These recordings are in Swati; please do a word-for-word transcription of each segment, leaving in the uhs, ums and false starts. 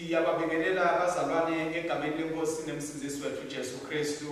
Siyababingelela bazalwane egameni lenkosi nemsindzisi wethu Jesu Kristu.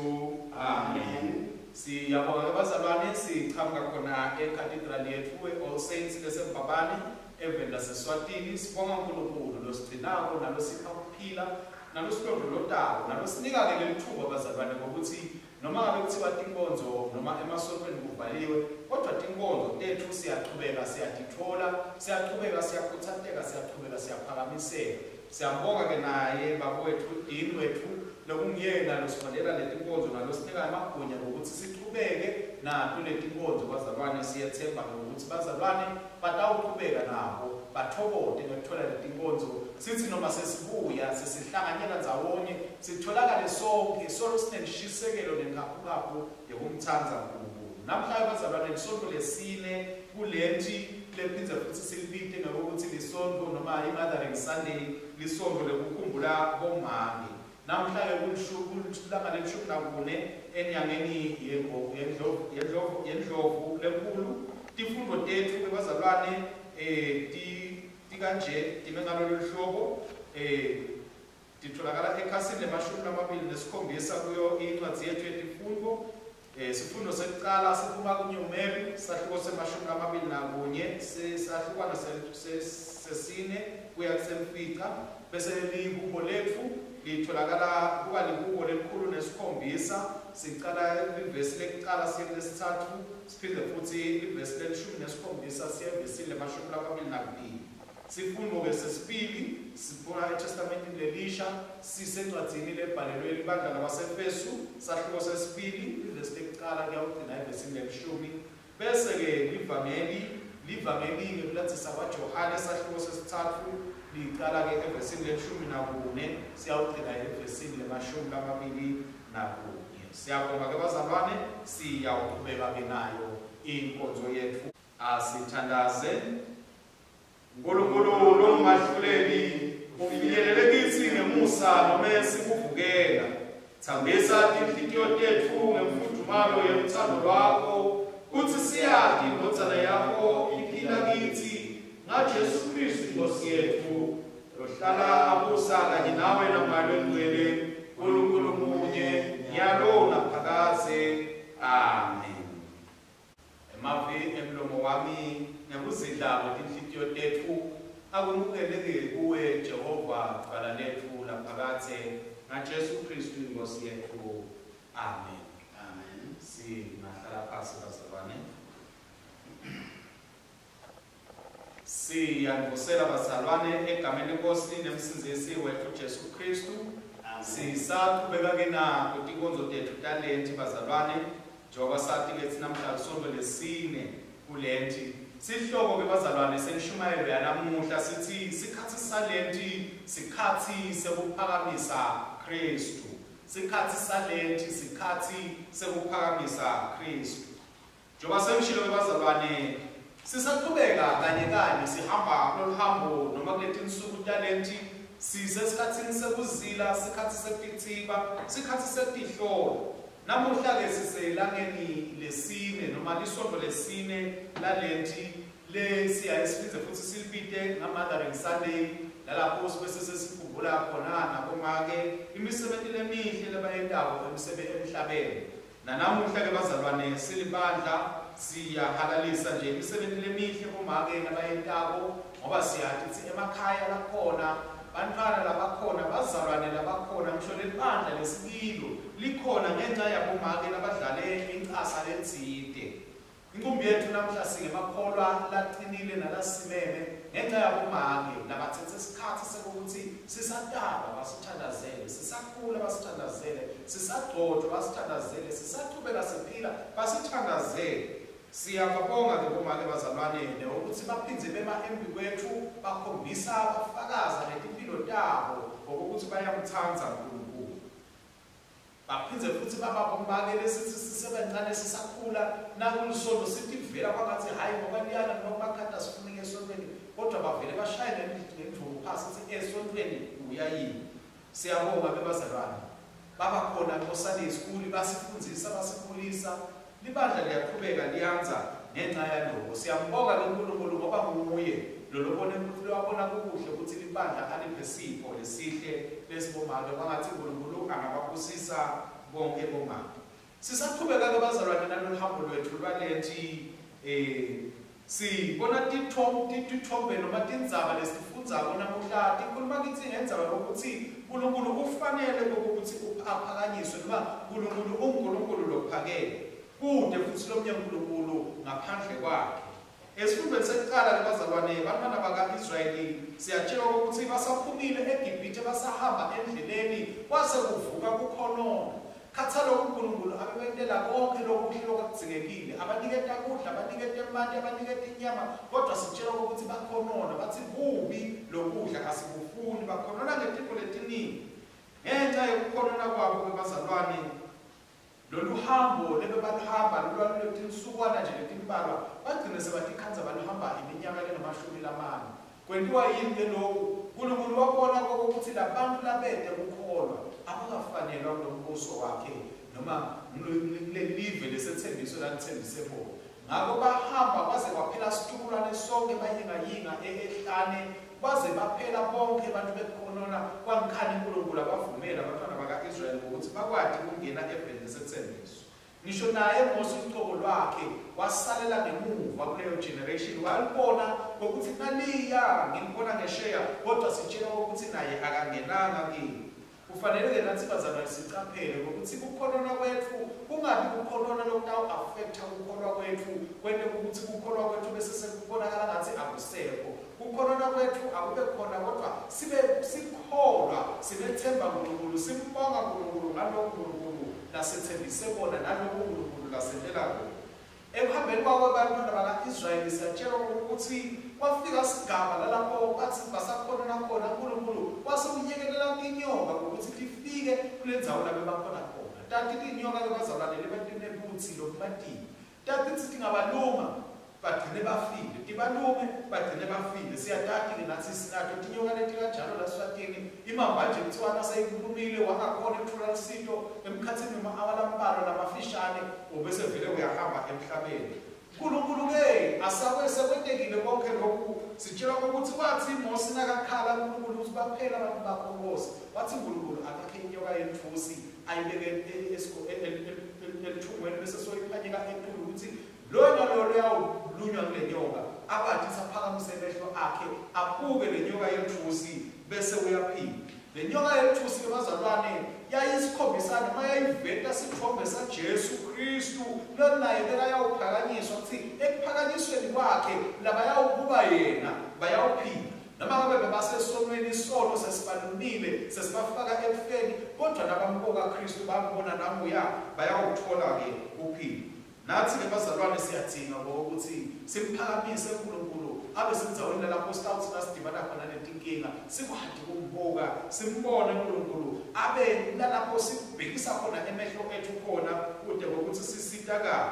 Amen. Siyabonga bazalwane, sichamuka khona ecathedral yethu e-All Saints leseMbabane eveni laseSwatini. Sibonga uNkulunkulu losigcinako nalosipha kuphila nalosilondvolotako nalosinika-ke lelithuba bazalwane ngokuthi noma ngabe kuthiwa tinkonzo noma emasontweni kuvaliwe, kodwa tinkonzo tethu siyachubeka siyatithola, siyachubeka siyakhutsateka, siyachubeka siyaphakamiseka. Siyambonga-ke naye baba wethu, Dean wethu, lokunguyena losiholela letinkonzo nalosinika emagunya ngokuthi sichubeke nato letinkonzo bazalwane. Siyethemba-ke ngokuthi bazalwane batawuchubeka nabo bathokote ngekuthola letinkonzo, sithi noma sesibuya sesihlanganyela ndzawonye sitholakale sonke solo sinenishisekelo nenkhaphukhaphu yekumtsandza uNkulunkulu. Namhlanje bazalwane lisonto lesine kulenti lephindze futhi silibite ngekuthi lisonto noma i-Mothering Sunday, lisonto lekukhumbula bomake. Namhlanje kulanga lelishumi nakune enyangeni yendlovu yendlovu yendlovu lenkulu. Tifundo tethu bazalwane eh tikanje time ngalolu hlobo, eh titholakala ekhasini lemashumi lamabili nesikhombisa kuyo incwadi yethu yetifundo. Eh sifundo sekucala siphuma kuNyumeri, sahluko semashumi lamabili nakunye, sesahlukwana sesine kuya kusemfica. Bese lihubo lethu litholakala kuba lihubo lelikhulu nesikhombisa, sicala livesi lekucala siye kulesithathu, siphinde futhi livesi lelishumi nesikhombisa siye evesini lemashumi lamabili nakubili. Sifundo-ke sesibili siphuma eTestamentini lelisha, sisencwadzini lebhalelwe libandla labaseFesu, sahluko sesibili livesi lekucala kuyawugcina evesini lelishumi. Bese-ke livangeli livangeli ngekulandzisa kwaJohane sahluko sesithathu licala-ke evesini lelishumi nakune siyawugcina evesini lemashumi lamabili nakunye. Siyabonga-ke bazalwane, siyawuchubeka-ke nayo inkonzo yethu. Asithandaze. Nkulunkulu longumahluleli, ufinyelele kitsi ngemusa nome sikuvukela. Thambisa tinhlitiyo tetfu ngemfudumalo yeluthando lwakho, kutsi siyati indvodzana yakho iphila kitsi ngaJesu Kristu Inkosi yetfu, lohlala abusa kanye nawe naMoya Longcwele, Nkulunkulu munye, nyalo naphakadze. Amen. Emavi emlomo wami nekuzidla kwetinhlitiyo tetfu akumukeleke kuwe Jehova, dvwala letfu laphakadze, ngaJesu Kristu Inkosi yetfu. Amen. Amen. Singahlala phasi bazalwane. Siyanivusela bazalwane egameni lenkosi nemsindzisi wethu Jesu Kristu. Sisachubeka-ke nato tinkonzo tethu talenti bazalwane, njengoba sati-ke thina namhla lisonto lesine kulenti. Sihloko-ke bazalwane senishumayelo yanamuhla sithi sikhatsi salenti sikhatsi sekuphakamisa Kristu. Sikhatsi salenti sikhatsi sekuphakamisa Kristu. Njengoba sengishilo-ke bazalwane, sisachubeka kanye kanye sihamba kulolu hambo noma kuletinsuku talenti, sisesikhatsini sekuzila, sikhatsi sekutitsiba, sikhatsi sekutihlola. Namuhla-ke siselangeni lesine noma lisonto lesine lalenti lesiyaye siphindze futhi silibite nga-Mothering Sunday, lalapho bese sesikhumbula khona nabomake imisebenti lemihle labayentako emhlabeni. Nanamuhla-ke bazalwane silibandla siyahalalisa nje imisebenti lemihle bomake labayentako, ngoba siyati kutsi emakhaya lakhona bantfwana labakhona, bazalwane labakhona, ngisho lelibandla lesikilo likhona ngenxa yabomake labadlale incasa letsite. Inkumbi yethu namhla singemakholwa lacinile nalasimeme ngenxa yabomake labatsetse isikhatsi sekuthi sisataba basithandazele, sisakhula basithandazele, sisagcotshwa basithandazele, sisachubeka siphila basithandazele. Siyababonga-ke bomake bazalwane ukuthi baphindze bema embi kwethu bakhombisa bafakaza netimpilo tabo ngokuthi bayamtsandza uNkulunkulu. Baphindze futhi baba bomake lesithi sisebancane sisakhula nakulisonto sithi vela kwangathi hhayi ngoba liyana noma bakhata sifunike esontweni, kodwa bavele bashaye ngendvuku phasi sithi esontweni uyayini. Siyabonga-ke bazalwane, baba khona ko-Sunday school basifundzisa basikhulisa, libandla liyaqhubeka liyandza ngenxa yaloko. Siyambonga-ke uNkulunkulu ngoba nguye lolobone ukuthi lwabona kukuhle ukuthi libandla aliphe sipho lesihle lesibomake kwangathi uNkulunkulu angababusisa bonke bomake. Sisaqhubeka ke bazalwane nalolu hambo lwethu lwalethi eh sibona tithombe tithombe noma tindzaba lesifundzako namuhla tikhuluma kithi ngendzaba yokuthi uNkulunkulu ufanele ukuthi aphakanyiswe noma uNkulunkulu unguNkulunkulu lophakeme kude futhi lomnye uNkulunkulu ngaphandle kwakhe. Esifundweni sekuqala ke bazalwane bantwana baka-Israyeli siyatshelwa ukuthi basaphumile eGibhithe basahamba endleleni kwase kuvuka kukhonona. Khathalo uNkulunkulu abebentela konke lokuhle lokudzingekile, abaniketa kudla, abaniketa emanti, abaniketa inyama, kodwa sitshelwa ukuthi bakhonona bathi kubi lokudla asikufuni, bakhonona ngetintfo letiningi. Ngenxa yokukhonona kwabo ke bazalwane lolu hambo lebebaluhamba lolwaluletinsuku nje letimbalwa bagcine sebatikhandza baluhamba iminyaka lengamashumi lamane. Kwentiwa yini ke lokhu? uNkulunkulu wabona ukuthi labantu labete kukholwa abakafanelwa kulombuso wakhe noma kulelive lesethembiso lalithembise bona. Ngakho bahamba baze kwaphela situkulwane sonke bayingayinga ehlane baze baphela bonke abantu bekhonona kwangikhani uNkulunkulu abavumela abantwana baka-Israyeli ukuthi bakwati ukungena eveni lesethembiso. Ngisho naye Mose ucobo lwakhe wasalela ngemuva kuleyo generation walibona ngokuthi naliya ngilibona ngesheya kodwa sitshela ukuthi naye akangenanga kini. Kufanele ke nathi bazalwane sicaphele ukuthi kukhonona kwethu kungabi kukhonona lokutawu-affecta kukholwa kwethu kwente ukuthi kukholwa kwethu bese sekubonakala ngathi akusekho. Kukhonona kwethu akube khona kodwa sibe sikholwa sinethemba uNkulunkulu simbonga uNkulunkulu ngalokho uNkulunkulu lasethembise bona nalokho uNkulunkulu lasentela kona. Ekuhambeni kwabo abantwana baka-Israyeli siyatshelwa ukuthi kwafika sigaba lalapho bathi basakhonona khona uNkulunkulu wase uyekelela tinyoka ukuthi tifike kule ndzawo la bebakhona khona. Tati tinyoka ke bazalwane lebatinebutsi lobumatini tati tingabaluma bagcine bafile, tibalume bagcine bafile. Siyatati ke nathi sinato tinyoka leti kanjalo la Swatini imamba nje kuthiwa naseyikhulumile wangakhona ukuthola usito emkhathini noma awalambalwa lamafishane ubese vele uyahamba emhlabeni. uNkulunkulu ke asakwe sekwentekile konke lokhu sitshelwa ukuthi wathi Mose nakakhala uNkulunkulu ukuthi baphela abantu bakho Nkosi, wathi uNkulunkulu akakhe inyoka yentfusi ayibeke elithungweni bese soyiphanyeka etulu ukuthi loyo naloyo luyawulunywa kule nyoka abathi saphakamise emehlo akhe abuke le nyoka yentfusi bese uyaphila. Le nyoka yentfusi ke bazalwane yayisikhombisa noma yayiveta sithombe saJesu Kristu lo naye bekayawuphakanyiswa ukuthi ekuphakanyisweni kwakhe labayawukuba yena bayawuphila. Noma ngabe bebasesonweni isono sesibalumile sesibafaka ekufeni kodwa nabambuka Kristu bambona namuya bayawuthola ke kuphila. Nathi ke bazalwane siyadzinga ukuthi simphakamise uNkulunkulu abe sendzaweni lapho sitawuthi nasidibana khona netinkinga sikwati ukumbuka simbone uNkulunkulu abe lalapho sibhekisa khona emehlo ethu khona kude ngokuthi sisitakale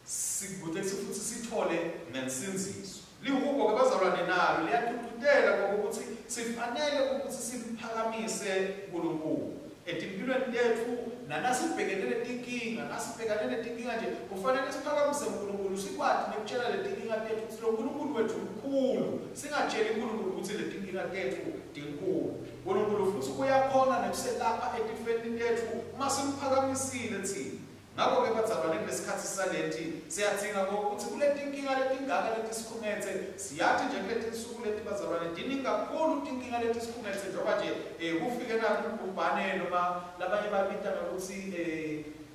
sikude futhi sithole nensinziso. Lihubo ke bazalwane nalo liyatututela ngokuthi sifanele ukuthi simphakamise uNkulunkulu etimpilweni tethu nanasibhekene netinkinga nasibhekane netinkinga nje kufanele siphakamise uNkulunkulu sikwati nekutshela letinkinga tethu ukuthi lo Nkulunkulu wethu mkhulu, singatsheli uNkulunkulu ukuthi letinkinga tethu tinkulu. uNkulunkulu futhi uyakhona nekuselapha etifeni tethu uma simphakamisile thina. Ngakho-ke bazalwane kulesikhathi salethi siyadzinga ngokuthi kule tinkinga letingaka letisikhungethe siyathi nje kuleti nsuku leti bazalwane tiningi kakhulu tinkinga letisikhungethe njengoba nje um kufike nakubhubhane noma labanye babita ngokuthi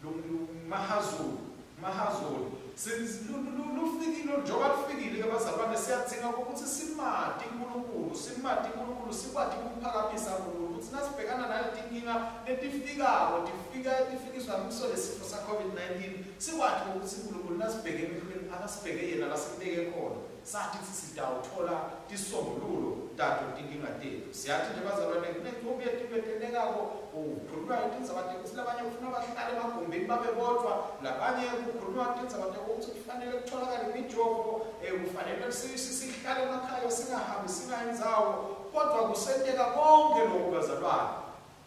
um mahazulu mahazulu lufikile njengoba lufikile ke bazalwane siyadzinga ukuthi simati uNkulunkulu simati uNkulunkulu sikwati ukumphakamisa uNkulunkulu ukuthi nasibhekana nale tinkinga letifikako tifika tifikiswa ngiso lesifo sa COVID nineteen sikwati ukuthi uNkulunkulu nasibheke emehlweni akasibheke yena lasibeke khona sathi sitawuthola tisombululo tato tinkinga tethu. Siyathi nje bazalwane kunenqumbi yetibethelekako kukhulunywa tindzaba tekuthi labanye kufuna bahlale emagumbini babe bodvwa labanye kukhulunywa tindzaba tekuthi kufanele kutholakale imijovo um kufanele sihlale emakhaya singahambi singayindzawo kodwa kusenteka konke lokhu bazalwane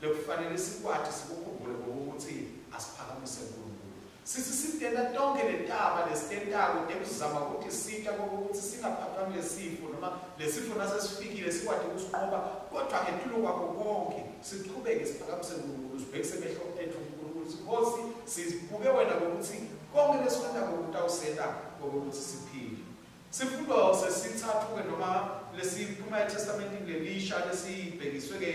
lekufanele sikwati sikukhumbule ngokuthi asiphakamise uNkulunkulu. Sithi sitenda tonke letaba lesitentako tekuzama ukuthi sita kokuthi singaphathwa ngesifo noma lesifo nasesifikile sikwati ukusinqoba, kodwa ngetulo kwakho konke siqhubeke siphakamise uNkulunkulu, sibhekise emehlo ethu uNkulunkulu, Nkosi sibuke wena ngokuthi konke lesikwentako kutawusenta ngokuthi siphile. Sifundo sesithathu-ke noma lesiphuma eTestamentini lelisha lesibhekiswe-ke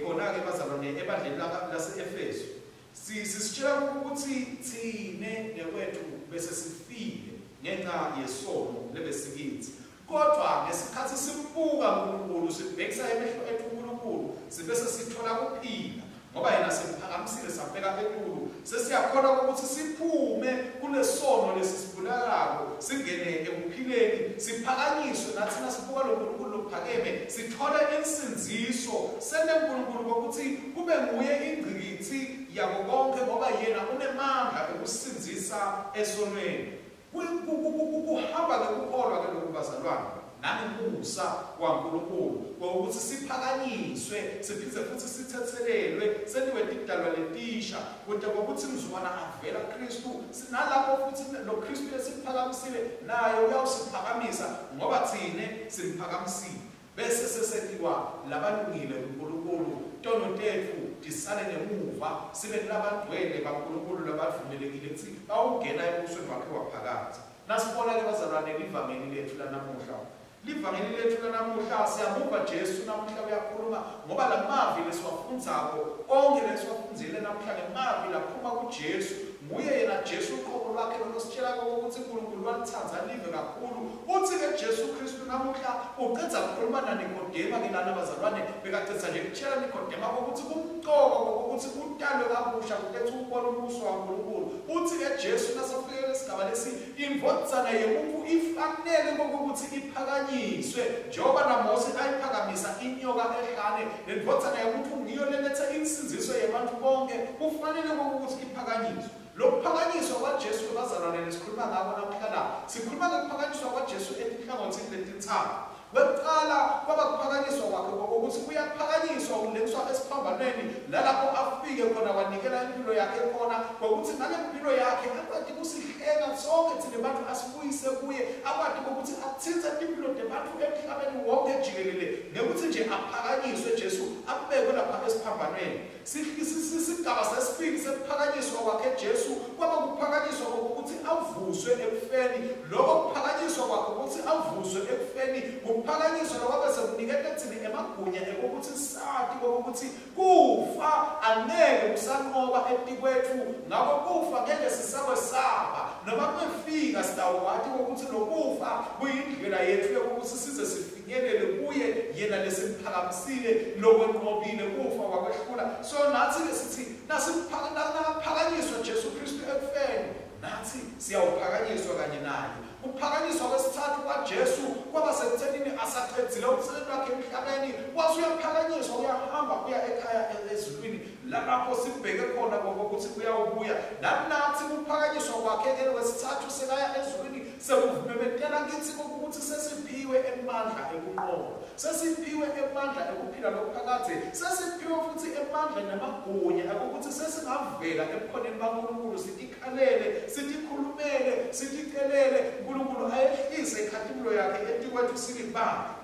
khona-ke bazalwane ebandleni lase-Efesu, sisitshela ukuthi thine nekwethu bese sifile ngenxa yesono lebesikithi, kodwa ngesikhathi simbuka uNkulunkulu sibhekisa emehlo ethu uNkulunkulu sibese sithola kuphila, ngoba yena simphakamisile sambeka etulu, sesiyakhona ukuthi siphume kulesono lesisibulalako singene ekuphileni, siphakanyiswe nathi nasibuka lo Nkulunkulu lophakeme sithole insindziso, sente uNkulunkulu ukuthi kube nguye ingqikithi yako konke, ngoba yena unemandla ekusindzisa esonweni. Kuhamba ngekukholwa ke lokhu bazalwane nangemusa waNkulunkulu ngokuthi siphakanyiswe siphinde futhi sithethelelwe sentiwe tidalwa letisha, kodwa ngokuthi mzukwana avela Kristu sinalapho futhi lo Kristu lesiphakamisile naye uyawusiphakamisa ngoba thine simphakamisile, bese sesentiwa labalungile kuNkulunkulu, tono tethu tisale ngemuva sibe labangcwele baNkulunkulu labavumelekile ukuthi bawungena embusweni wakhe waphakathi. Nasibona-ke bazalwane livangeli lethu lanamuhla, livangeli lethu lanamuhla siyamuva Jesu namuhla uyakhuluma, ngoba lamavi lesiwafundzako onke lesiwafundzile namuhla ngemavi laphuma kuJesu. Nguye yena Jesu uqobo lwakhe lolositshela ukuthi uNkulunkulu walithanda live kakhulu. Uthi-ke Jesu Kristu namuhla ucedza kukhuluma naNikodema ke lana bazalwane, bekacedza nje kutshela Nikodema ukuthi kumcoka ukuthi utalwe kabusha kuletha ukubona umbuso waNkulunkulu. Uthi-ke Jesu nasafike lesigaba lesi, indvodzana yemuntu ifanele kokuthi iphakanyiswe njengoba naMose ayiphakamisa inyoka ehlane, le ndvodzana yemuntu ngiyo leletha insindziso yebantu bonke, kufanele kokuthi iphakanyiswe. Lokuphakanyiswa kwaJesu bazalwane lesikhuluma ngako namuhla la, sikhuluma ngokuphakanyiswa kwaJesu etinhlangothini letintsatfu. Kwekuqala kwaba kuphakanyiswa kwakhe ukuthi uyaphakanyiswa uleniswa esiphambanweni lalapho afike khona wanikela impilo yakhe khona, ngokuthi ngale mpilo yakhe akwati kusihlenga sonke thina bantu asibuyise kuye, akwati ukuthi athintse impilo tebantu emhlabeni wonke jikelele ngekuthi nje aphakanyiswe Jesu abekwe lapha esiphambanweni. Sigaba sesibili sekuphakanyiswa kwakhe Jesu kwaba kuphakanyiswa ukuthi avuswe ekufeni. Lokho kuphakanyiswa kwakhe ukuthi avuswe ekufeni kuphakanyiswa lokwabe sekuniketa thina emagunya ekokuthi sati kokuthi kufa angeke kusanqoba etikwethu, ngakho kufa ngeke sisakwesaba noma kufika sitawati ukuthi lokufa kuyindlela yethu yokuthi size sifinyelele kuye yena lesimphakamisile lokwenqobile kufa wakwehlula. So nathi-ke sithi nasiphakanyiswa Jesu Kristu ekufeni nathi siyawuphakanyiswa kanye naye. Kuphakanyiswa kwesithathu kwaJesu kwaba sekuthenini asaqedzile umsebenzi wakhe emhlabeni, wase uyaphakanyiswa uyahamba uya ekhaya ezulwini lapho sibheke khona ngokuthi uyawubuya. Nathi kuphakanyiswa kwakhe ke kwesithathu sekaya ezulwini sekuvumemetela kithi ukuthi sesiphiwe emandla ekunqoba, sesiphiwe emandla ekuphila lokuphakade, sesiphiwe futhi emandla namagunya ukuthi sesingavela ebukhoneni baNkulunkulu sitikhalele, sitikhulumele, siticelele uNkulunkulu ayehlise ikhatimulo yakhe etikwethu silibandla.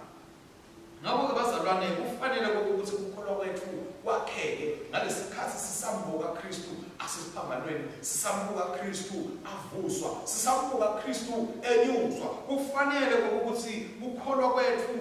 Ngakho-ke bazalwane kufanele ukuthi ukukholwa kwethu kwakheke ngalesikhathi sisambuka Kristu asesiphambanweni, sisambuka Kristu avuswa, sisambuka Kristu enyuswa. Kufanele ukuthi ukukholwa kwethu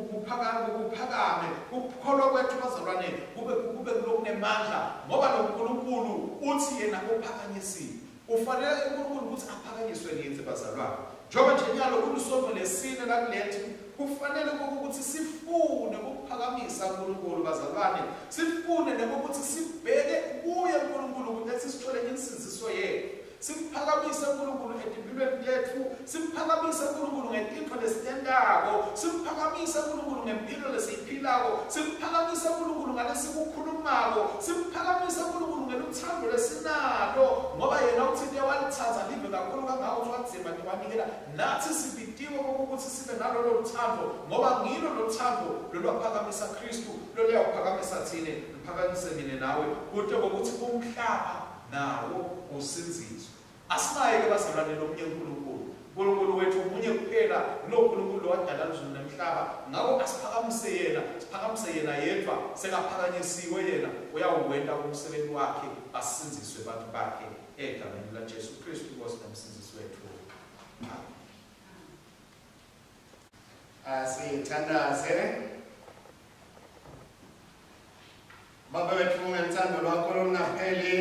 kuphakame, kuphakame ukukholwa kwethu bazalwane kube kube kulokunemandla, ngoba lo Nkulunkulu uthi yena uphakanyisile. Ufanele uNkulunkulu ukuthi aphakanyiswe ngithi bazalwane. Njengoba nje nyalo kulusonto lesine lakulethi, kufanele ukuthi sifune ukuphakamisa uNkulunkulu bazalwane, sifune nokuthi sibheke kuye uNkulunkulu ukuthi sithole insindziso yethu, simphakamise uNkulunkulu etimpilweni tethu, simphakamise uNkulunkulu ngetintfo lesitentako, simphakamise uNkulunkulu ngempilo lesiyiphilako, simphakamise uNkulunkulu ngalesikukhulumako, simphakamise uNkulunkulu ngeluthando lesinalo, ngoba yena uthinte walithatha live kakhulu kangako wadzima wanikela nathi sibitiwe ukuthi sibe nalolo luthando, ngoba ngilo lothando lolwaphakamisa Kristu loluyawuphakamisa thine, luphakamise mina nawe, kude ngokuthi umhlaba Nawo usindziswe. Asinaye-ke bazalwane lomunye uNkulunkulu. uNkulunkulu wethu munye kuphela, lo uNkulunkulu wadala izulu nemhlaba. Ngako asiphakamise yena, siphakamise yena yedvwa, sekaphakanyisiwe yena, uyawuwenta umsebenzi wakhe, basindziswe bantu bakhe egameni laJesu Kristu Nkosi nomsindzisi wethu. Amen. Asithandaze. Baba wethu ngethando lwakho olungapheli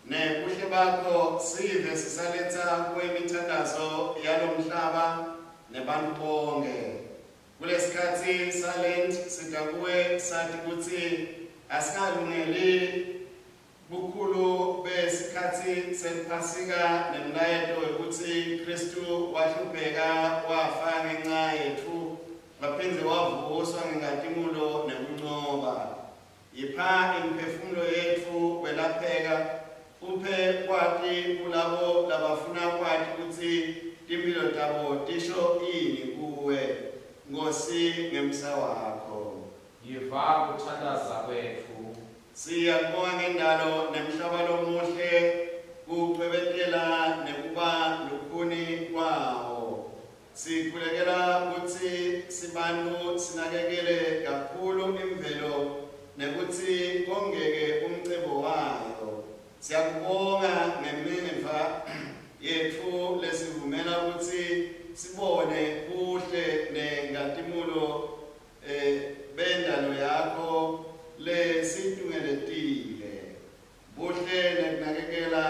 nebuhle bakho sive sisaletha kuwe imithandazo yalomhlaba nebantu bonke. Kulesikhathi salent sida kuwe sathi kutsi asikalungeli bukhulu besikhathi sePhasika nemlayeto wekutsi Kristu wahlupheka wafa ngenxa yetfu waphindze wavuswa ngenkhatimulo nekuncoba. Yipha imiphefumulo yetfu kwelapheka, uphe kwati kulabo labafuna kwati kutsi timphilo tabo tisho ini kuwe, Nkosi ngemsa wakho. Yiva kuthandaza kwetfu. Siyakubonga ngendalo nemhlaba lomuhle, kucwebetela nekuba lukhuni kwawo. Sikhulekela kutsi sibantu sinakekele kakhulu imvelo nekutsi kongeke umcebo wayo. Siyakubonga ngemiva yetfu lesivumela kutsi sibone buhle nenkhatimulo eh, bendalo yakho lesitungeletile. Buhle nekunakekela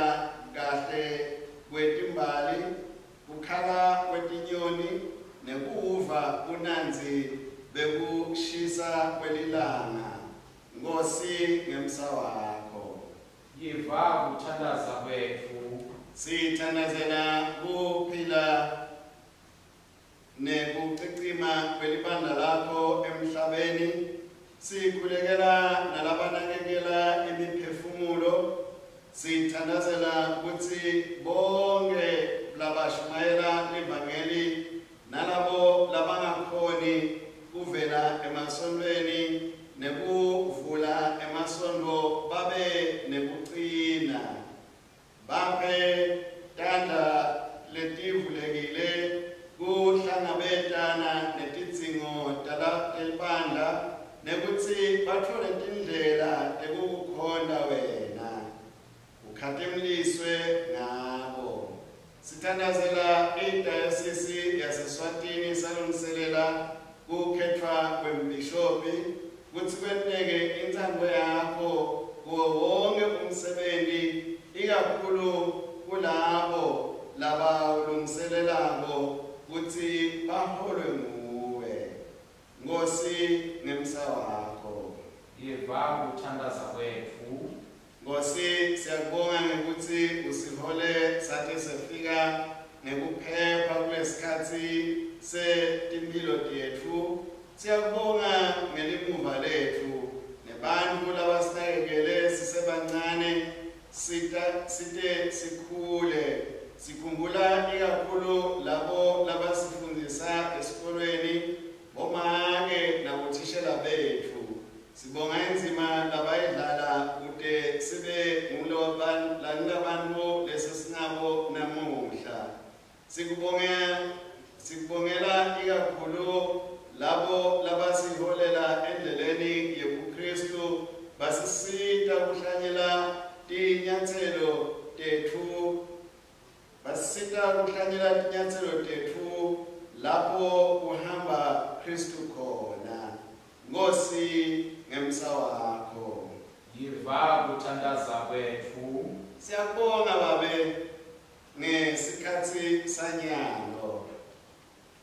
kahle kwetimbali, kukhala kwetinyoni nekuva bunandzi bekushisa kwelilanga. Nkosi ngemsa wakho. Yiva kuthandaza kwetfu. Sithandazela kuphila nekucicima kwelibandla lakho emhlabeni. Sikhulekela nalabanakekela imiphefumulo. Sithandazela kutsi bonke labashumayela livangeli nalabo labangakhoni kuvela emasontweni nekuvula emasontfo babe nekucina. Baphe tandla letivulekile kuhlangabetana netidzingo telibandla nekutsi batfole tindlela tekukukhonta wena. Ukhatimliswe ngabo. Sithandazela idayosisi yaseSwatini salungiselela kukhetfwa kwembhishobhi kutsi kwenteke intsandvo yakho kuwo wonke umsebenti, ikakhulu kulabo labawulungiselelako kutsi baholwe nguwe. Nkosi ngemsa wakho. Yiva kuthandaza kwetfu. Nkosi siyakubonga ngekutsi usihole sate sefika ngekuphepha kulesikhatsi setimphilo tetfu. Siyakubonga ngelimuva letfu nebantfu labasinakekele sisebancane sita site sikhule. Sikhumbula ikakhulu labo labasifundzisa esikolweni, bomake nabothishela betfu. Sibonga indzima labayidlala kute sibe ngulabantu lesesinabo namuhla. Sikubonga sikubongela ikakhulu labo labasiholela endleleni yebuKristu, basisita kuhlanyela tinyatselo tetfu, basisita kuhlanyela tinyatselo tetfu lapho kuhamba Kristu khona. Nkosi ngemsa wakho. Yiva kuthandaza kwetfu. Siyakubonga Babe ngesikhatsi sanyalo.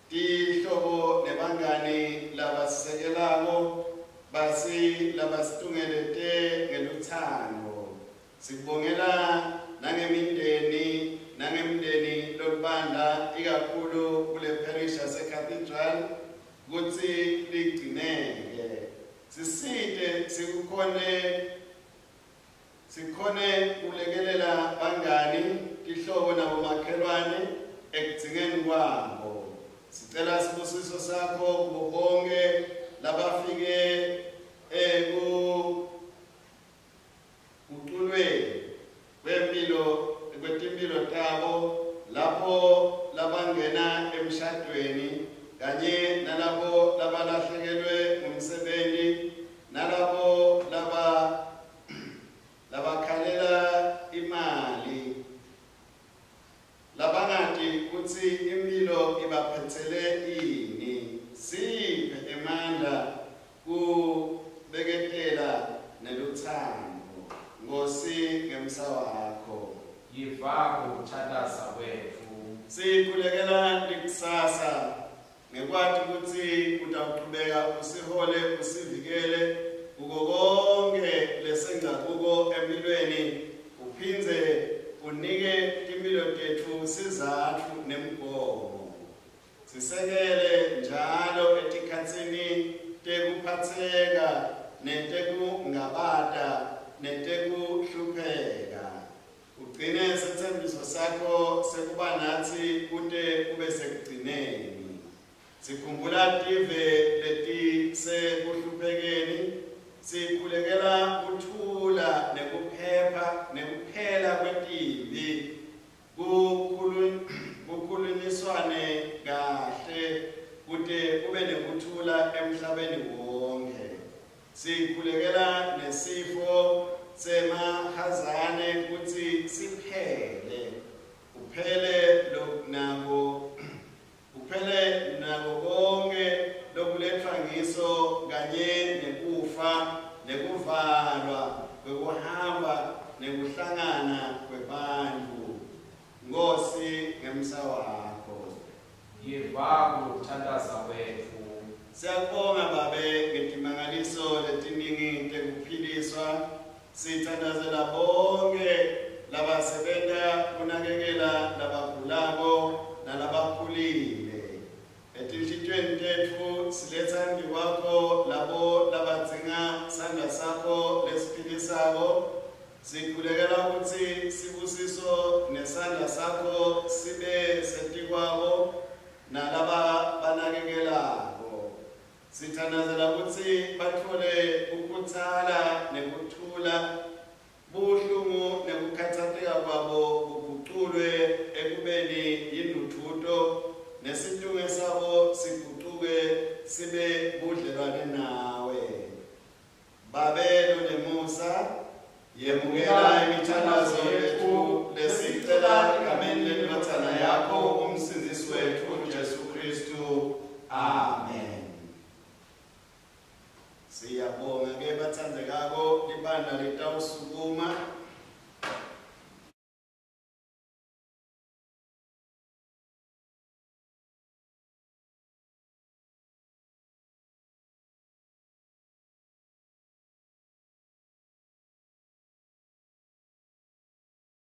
Tihlobo nebangani labasisekelako basi labasitungelete ngeluthando. Sikubongela nangemindeni nangemndeni lolubandla ikakhulu kule parish yase-Cathedral kutsi ligcineke. Sisite sikukhone sikhone kulekelela bangani, tihlobo nabomakhelwane ekudzingeni kwabo. Sicela sibusiso sakho kubo bonke labafike ekuculweni kuthandaza kwetfu. Sikhulekela likusasa ngekwati kutsi utawuqhubeka usihole usivikele kuko konke lesengakuko empilweni, uphindze unike timphilo tetfu sizatfu nemgomo. Sisekele njalo etikhatsini tekuphatseka netekungabata netekuhlupheka. Ugcine setsembiso sakho sekuba natsi kute kube sekugcineni. Sikhumbula tive letisekuhluphekeni, sikhulekela kuthula nekuphepha nekuphela kwetimbi, kukhulunyiswane kahle kute kube nekuthula emhlabeni wonke. Sikhulekela nesifo semahazane kutsi siphele, kuphele nako kuphele nako konke lokuletfwa ngiso kanye nekufa nekuvalwa kwekuhamba nekuhlangana kwebantfu. Nkosi ngemsa wakho Yiva kuthandaza kwetfu. Siyabonga Babe ngetimangaliso letiningi tekuphiliswa. Sithandazela bonke labasebenta kunakekela labagulako nalabakhulile. Etinhlitiyweni tetfu siletsa embi kwakho labo labadzinga sandla sakho lesiphilisako. Sikhulekela kutsi sibusiso nesandla sakho sibe setikwabo nalaba banakekelako. Sithandazela kutsi batfole kukhutsala nekuthula, buhlungu nekukhatsateka kwabo kuguculwe ekubeni yindvudvuto, nesitunge sabo sigucuke sibe budlelwane nawe. Babe lonemusa, yemukela imithandazo yetfu lesicela egameni lendvodzana yakho umsindzisi wetfu Jesu Kristu. Amen. Siyabonga ke batsandzekako, libandla litawusuka